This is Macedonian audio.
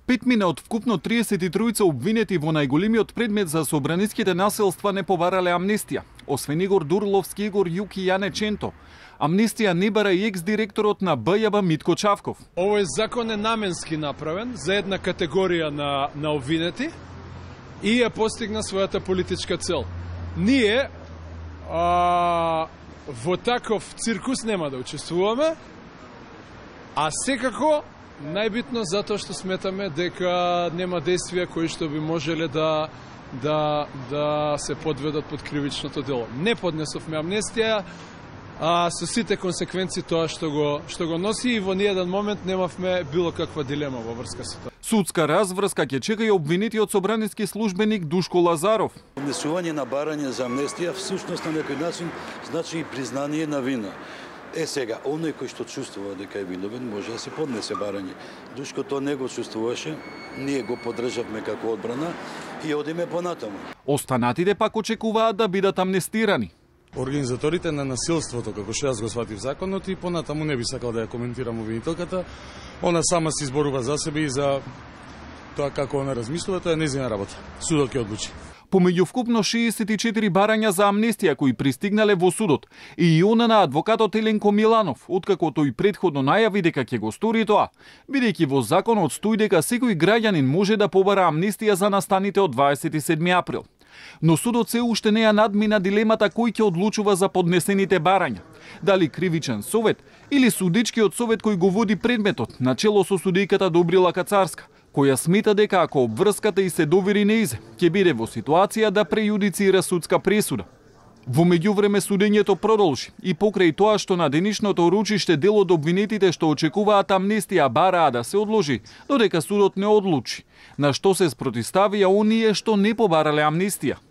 5 од вкупно 33 обвинети во најголемиот предмет за собраниските насилства не побарале амнестија. Освен Игор Дурловски, Игор Јук и Јане Ченто. Амнестија не бара и екс-директорот на БЈБ Митко Чавков. Овој закон е наменски направен за една категорија на обвинети и ја постигна својата политичка цел. Ние во таков циркус нема да учествуваме, а секако најбитно затоа што сметаме дека нема действија кои што би можеле да се подведат под кривичното дело. Не поднесовме амнестија, со сите консеквенции тоа што го носи, и во ниеден момент немавме било каква дилема во врска со тоа. Судска разврска ќе чека и обвинетиот собраниски службеник Душко Лазаров. Поднесување на барање за амнестија всушност на некој начин значи и признание на вина. Сега, оној кој што чувствува дека е виновен, може да се поднесе барање. Душко тоа не го чувствуваше, ние го поддржавме како одбрана и одиме понатаму. Останатите пак очекуваат да бидат амнестирани. Организаторите на насилството, како што јас го сватив законот, и понатаму не би сакал да ја коментирам обвинителката. Она сама се изборува за себе и за тоа како она размислува, тоа е нејзина работа. Судот ќе одлучи. Помеѓу вкупно 64 барања за амнестија кои пристигнале во судот и она на адвокатот Еленко Миланов, откако тој претходно најави дека ќе го стори тоа, бидејќи во законот стои дека секој граѓанин може да побара амнестија за настаните од 27 април. Но судот се уште не ја надмина дилемата кој ќе одлучува за поднесените барања. Дали кривичен совет или судичкиот совет кој го води предметот, начело со судијката Добрила Кацарска, која смета дека ако обврската и се довери неизе, ќе биде во ситуација да прејудицира судска пресуда. Во меѓувреме судењето продолжи и покрај тоа што на денешното ручиште дел од обвинетите што очекуваат амнестија бараа да се одложи, додека судот не одлучи, на што се спротивставија оние што не побарале амнестија.